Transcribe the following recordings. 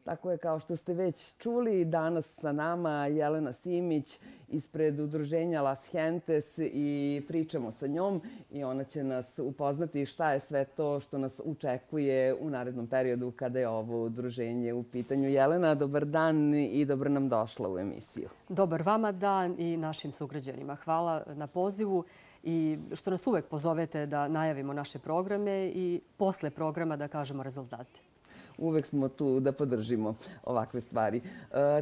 Tako je, kao što ste već čuli, danas sa nama Jelena Simić ispred udruženja Las Gentes i pričamo sa njom i ona će nas upoznati šta je sve to što nas očekuje u narednom periodu kada je ovo udruženje u pitanju. Jelena, dobar dan i dobro nam došla u emisiju. Dobar vama dan i našim sugrađanima. Hvala na pozivu i što nas uvek pozovete da najavimo naše programe i posle programa da kažemo rezultate. Uvek smo tu da podržimo ovakve stvari.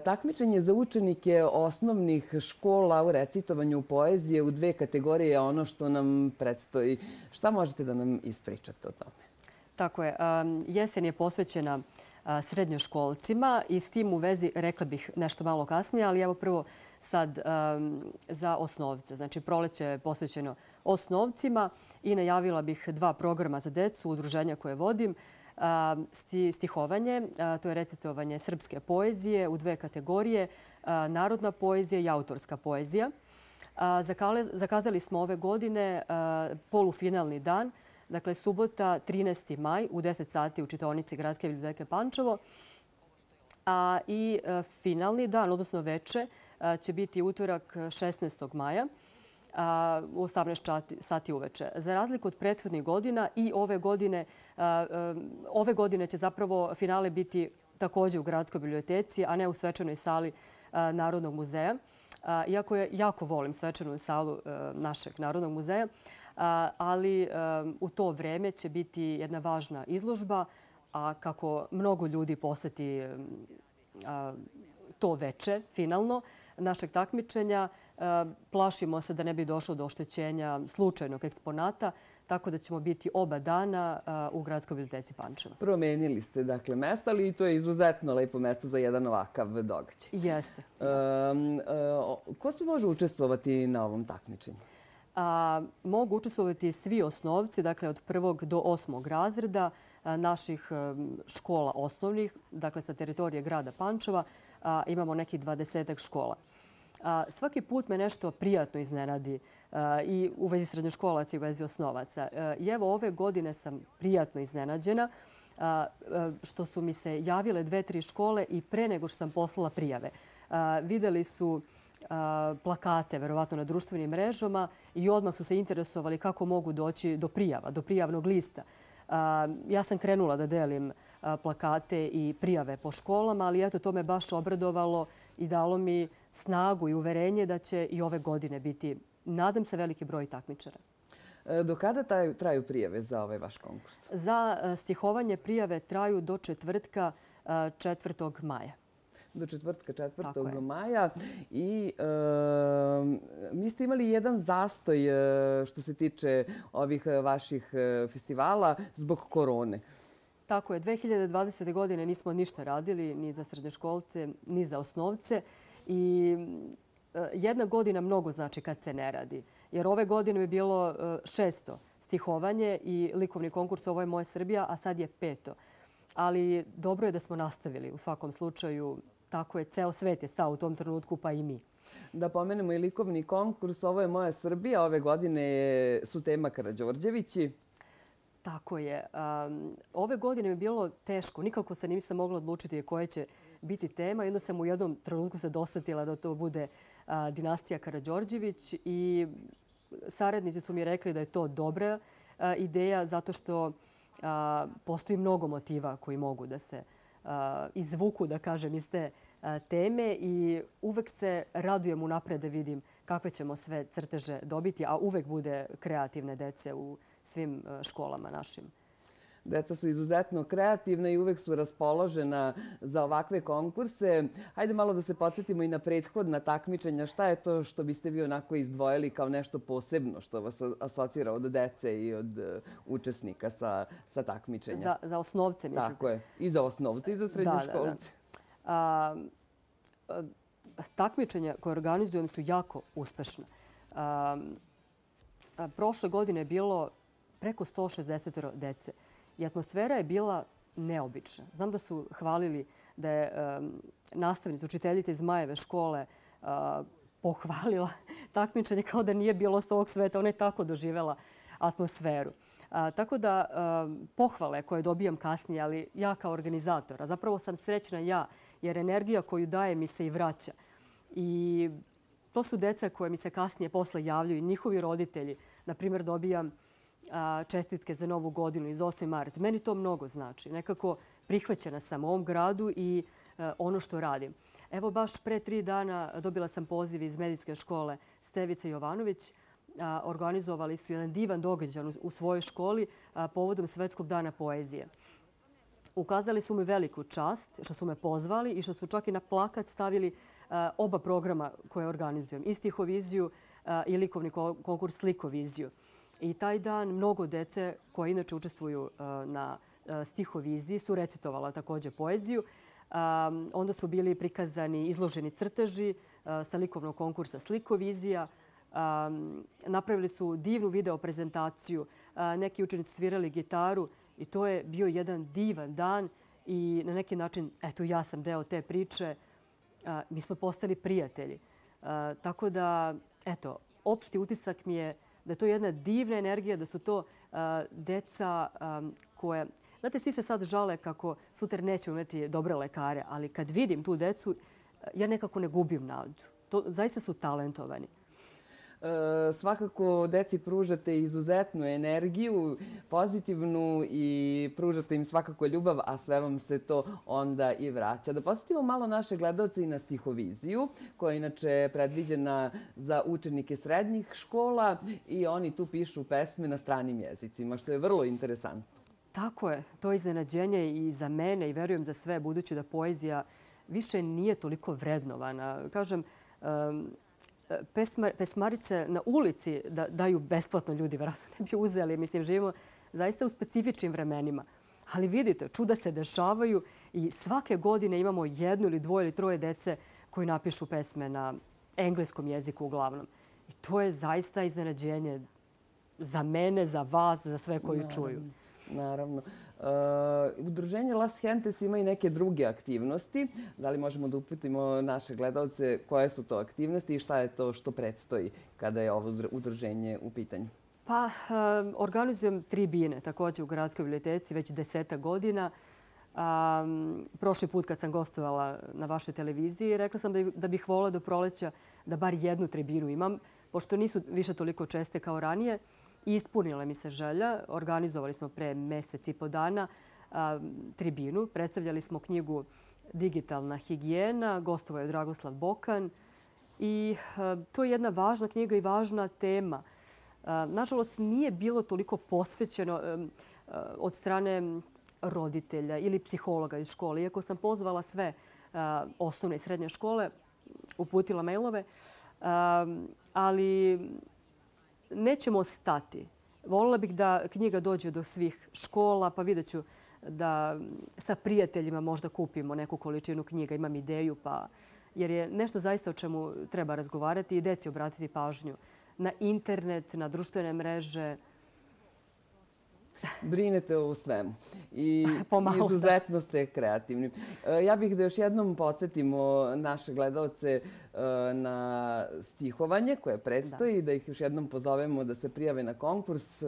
Takmičenje za učenike osnovnih škola u recitovanju poezije u dve kategorije je ono što nam predstoji. Šta možete da nam ispričate o tome? Tako je. Jesen je posvećena srednjoškolcima i s tim u vezi rekla bih nešto malo kasnije, ali evo prvo sad za osnovce. Znači, proleće je posvećeno osnovcima i najavila bih dva programa za decu, udruženja koje vodim. Stihovanje, to je recitovanje srpske poezije u dve kategorije, narodna poezija i autorska poezija. Zakazali smo ove godine polufinalni dan, dakle subota 13. maj u 10 sati u čitaonici Gradske biblioteke Pančevo. I finalni dan, odnosno veče, će biti utorak 16. maja u 18 sati uveče. Za razliku od prethodnih godina i ove godine će zapravo finale biti također u Gradskoj biblioteci, a ne u svečanoj sali Narodnog muzeja. Iako jako volim svečanu salu našeg Narodnog muzeja, ali u to vreme će biti jedna važna izložba, a kako mnogo ljudi poseti to veče, finalno, našeg takmičenja, plašimo se da ne bi došlo do oštećenja slučajnog eksponata, tako da ćemo biti oba dana u Gradskoj biblioteci Pančeva. Promenili ste dakle mesto, ali to je izuzetno lepo mesto za jedan ovakav događaj. Jeste. Ko se može učestvovati na ovom takmičenju? Mogu učestvovati svi osnovci, dakle od 1. do 8. razreda naših škola osnovnih, dakle sa teritorije grada Pančeva. Imamo nekih 20 škola. Svaki put me nešto prijatno iznenadi i u vezi srednjoškolaca i u vezi osnovaca. I evo ove godine sam prijatno iznenađena što su mi se javile 2-3 škole i pre nego što sam poslala prijave. Videli su plakate, verovatno na društvenim mrežama i odmah su se interesovali kako mogu doći do prijava, do prijavnog lista. Ja sam krenula da delim plakate i prijave po školama, ali eto, to me baš obradovalo i dalo mi snagu i uverenje da će i ove godine biti, nadam se, veliki broj takmičara. Do kada traju prijave za ovaj vaš konkurs? Za stihovanje prijave traju do četvrtka 4. maja. Do četvrtka 4. maja. I mi ste imali jedan zastoj što se tiče ovih vaših festivala zbog korone. Tako je. 2020. godine nismo ništa radili ni za srednjoškolce, ni za osnovce. I jedna godina mnogo znači kad se ne radi. Jer ove godine je bilo 600 stihovanje i likovni konkurs Ovo je moja Srbija, a sad je 500. Ali dobro je da smo nastavili u svakom slučaju. Tako je, ceo svet je stao u tom trenutku, pa i mi. Da pomenemo i likovni konkurs Ovo je moja Srbija. Ove godine su tema Karađorđevići. Tako je. Ove godine mi je bilo teško. Nikako se nisam mogla odlučiti koje će biti tema. I onda sam u jednom trenutku se dosetila da to bude dinastija Karađorđević i saradnici su mi rekli da je to dobra ideja zato što postoji mnogo motiva koji mogu da se izvuku, da kažem, iz te teme i uvek se radujem unapred da vidim kakve ćemo sve crteže dobiti, a uvek bude kreativne dece u svim školama našim. Deca su izuzetno kreativna i uvek su raspoložena za ovakve konkurse. Hajde malo da se podsjetimo i na prethodna takmičenja. Šta je to što biste vi onako izdvojili kao nešto posebno što vas asocira od dece i od učesnika sa takmičenja? Za osnovce, mislite? Tako je. I za osnovce i za srednjoškolce. Takmičenja koje organizujem su jako uspešna. Prošle godine je bilo preko 160 dece. I atmosfera je bila neobična. Znam da su hvalili da je nastavnica, učiteljica iz Majeve škole pohvalila takmičenje kao da nije bilo s ovog sveta. Ona je tako doživela atmosferu. Tako da pohvale koje dobijam kasnije, ali ja kao organizator, a zapravo sam srećna ja, jer energija koju daje mi se i vraća. I to su deca koje mi se kasnije posle javljaju i njihovi roditelji. Na primjer, dobijam čestitke za Novu godinu iz 8. mart. Meni to mnogo znači. Nekako prihvaćena sam u ovom gradu i ono što radim. Evo baš pre 3 dana dobila sam poziv iz medicinske škole Stevica Jovanović. Organizovali su jedan divan događaj u svojoj školi povodom Svetskog dana poezije. Ukazali su mi veliku čast što su me pozvali i što su čak i na plakat stavili oba programa koje organizujem. I stihoviziju i likovni konkurs Slikoviziju. I taj dan mnogo dece koje inače učestvuju na stihoviziji su recitovala također poeziju. Onda su bili prikazani izloženi crteži sa likovnog konkursa Slikovizija. Napravili su divnu video prezentaciju. Neki učenici svirali gitaru i to je bio jedan divan dan i na neki način, eto, ja sam deo te priče. Mi smo postali prijatelji. Tako da, eto, opšti utisak mi je da je to jedna divna energija, da su to deca koje... Znate, svi se sad žale kako sutra nećemo imati dobre lekare, ali kad vidim tu decu, ja nekako ne gubim nadu. Zaista su talentovani. Svakako deci pružate izuzetnu energiju, pozitivnu i pružate im svakako ljubav, a sve vam se to onda i vraća. Da posjetimo malo naše gledalce i na stihoviziju, koja je inače predviđena za učenike srednjih škola i oni tu pišu pesme na stranim jezicima, što je vrlo interesantno. Tako je. To je iznenađenje i za mene i verujem za sve, budući da poezija više nije toliko vrednovana. Kažem, pesmarice na ulici da daju besplatno ljudi, vjerojatno ne bi uzeli. Mislim, živimo zaista u specifičnim vremenima. Ali vidite, čuda se dešavaju i svake godine imamo 1 ili 2 ili 3 dece koji napišu pesme na engleskom jeziku uglavnom. I to je zaista iznenađenje za mene, za vas, za sve koji čuju. Naravno. Udruženje Las Gentes ima i neke druge aktivnosti. Da li možemo da uputimo naše gledalce koje su to aktivnosti i šta je to što predstoji kada je ovo udruženje u pitanju? Pa, organizujem tribine također u Gradskoj biblioteci već 10 godina. Prošli put kad sam gostovala na vašoj televiziji, rekla sam da bih volila do proleća da bar jednu tribinu imam, pošto nisu više toliko česte kao ranije. Ispunila mi se želja. Organizovali smo pre mjesec i po dana tribinu. Predstavljali smo knjigu Digitalna higijena. Gostovao je Dragoslav Bokan. I to je jedna važna knjiga i važna tema. Nažalost, nije bilo toliko posvećeno od strane roditelja ili psihologa iz škole. Iako sam pozvala sve osnovne i srednje škole, uputila mailove, ali nećemo stati. Volila bih da knjiga dođe do svih škola, pa vidjet ću da sa prijateljima možda kupimo neku količinu knjiga. Imam ideju, jer je nešto zaista o čemu treba razgovarati i deci obratiti pažnju. Na internet, na društvene mreže. Brinete o svemu i izuzetno ste kreativni. Ja bih da još jednom podsjetimo naše gledalce na stihovanje koje predstoji, da ih još jednom pozovemo da se prijave na konkurs.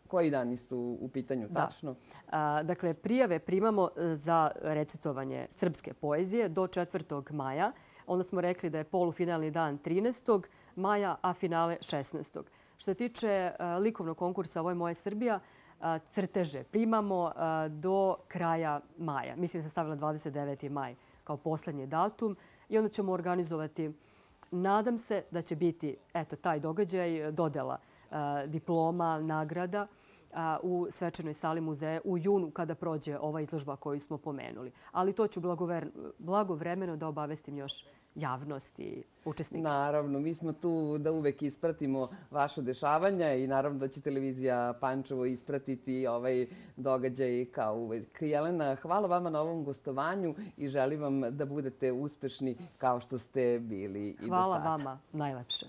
Koji dani su u pitanju tačno? Dakle, prijave primamo za recitovanje srpske poezije do 4. maja. Onda smo rekli da je polufinalni dan 13. maja, a finale 16. Što se tiče likovnog konkursa Ovo je moja Srbija, crteže primamo do kraja maja. Mislim da sam stavila 29. maj kao poslednji datum i onda ćemo organizovati, nadam se da će biti taj događaj, dodela diploma, nagrada u svečanoj sali muzeja u junu kada prođe ova izložba koju smo pomenuli. Ali to ću blagovremeno da obavestim još javnost i učesnike. Naravno, mi smo tu da uvek ispratimo vaše dešavanja i naravno da će televizija Pančevo ispratiti ovaj događaj kao uvek. Jelena, hvala vama na ovom gostovanju i želim vam da budete uspešni kao što ste bili i do sada. Hvala vama najlepše.